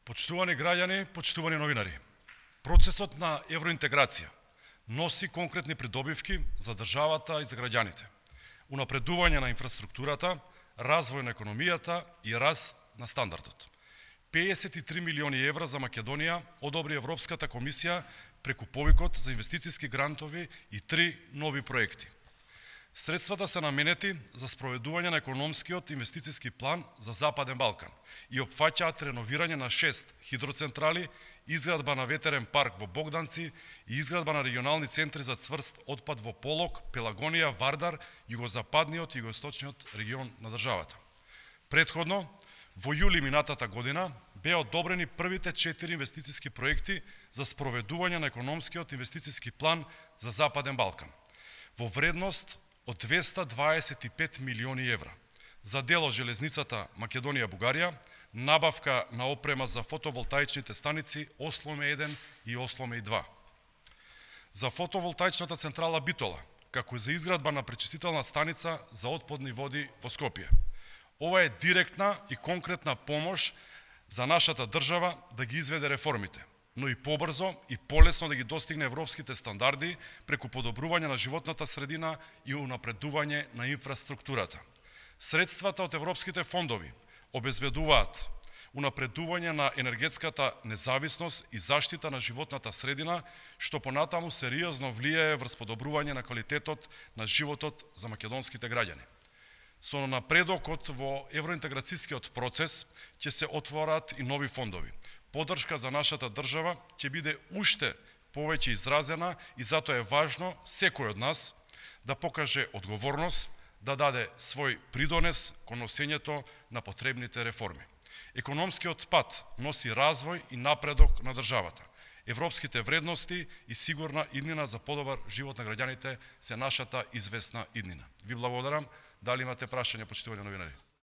Почитувани граѓани, почитувани новинари, процесот на евроинтеграција носи конкретни придобивки за државата и за граѓаните, унапредување на инфраструктурата, развој на економијата и раст на стандардот. 53 милиони евра за Македонија одобри Европската комисија преку повикот за инвестициски грантови и 3 нови проекти. Средствата се наменети за спроведување на економскиот инвестициски план за Западен Балкан и опфаќаат реновирање на 6 хидроцентрали, изградба на ветерен парк во Богданци и изградба на регионални центри за цврст отпад во Полог, Пелагонија, Вардар, југозападниот и југоисточниот регион на државата. Претходно, во јули минатата година беа одобрени првите 4 инвестициски проекти за спроведување на економскиот инвестициски план за Западен Балкан во вредност од 225 милиони евра за дел од железницата Македонија-Бугарија, набавка на опрема за фотоволтаичните станици Осломе 1 и Осломе 2. За фотоволтаичната централа Битола, како и за изградба на пречистителна станица за отпадни води во Скопје. Ова е директна и конкретна помош за нашата држава да ги изведе реформите, но и побрзо и полесно да ги достигне европските стандарди преку подобрување на животната средина и унапредување на инфраструктурата. Средствата од европските фондови обезбедуваат унапредување на енергетската независност и заштита на животната средина, што понатаму сериозно влијае врз подобрување на квалитетот на животот за македонските граѓани. Со напредокот во евроинтеграцијскиот процес ќе се отворат и нови фондови. Поддршка за нашата држава ќе биде уште повеќе изразена и затоа е важно секој од нас да покаже одговорност, да даде свој придонес кон носењето на потребните реформи. Економскиот пат носи развој и напредок на државата. Европските вредности и сигурна иднина за подобар живот на граѓаните се нашата известна иднина. Ви благодарам. Дали имате прашања, почитувани новинари?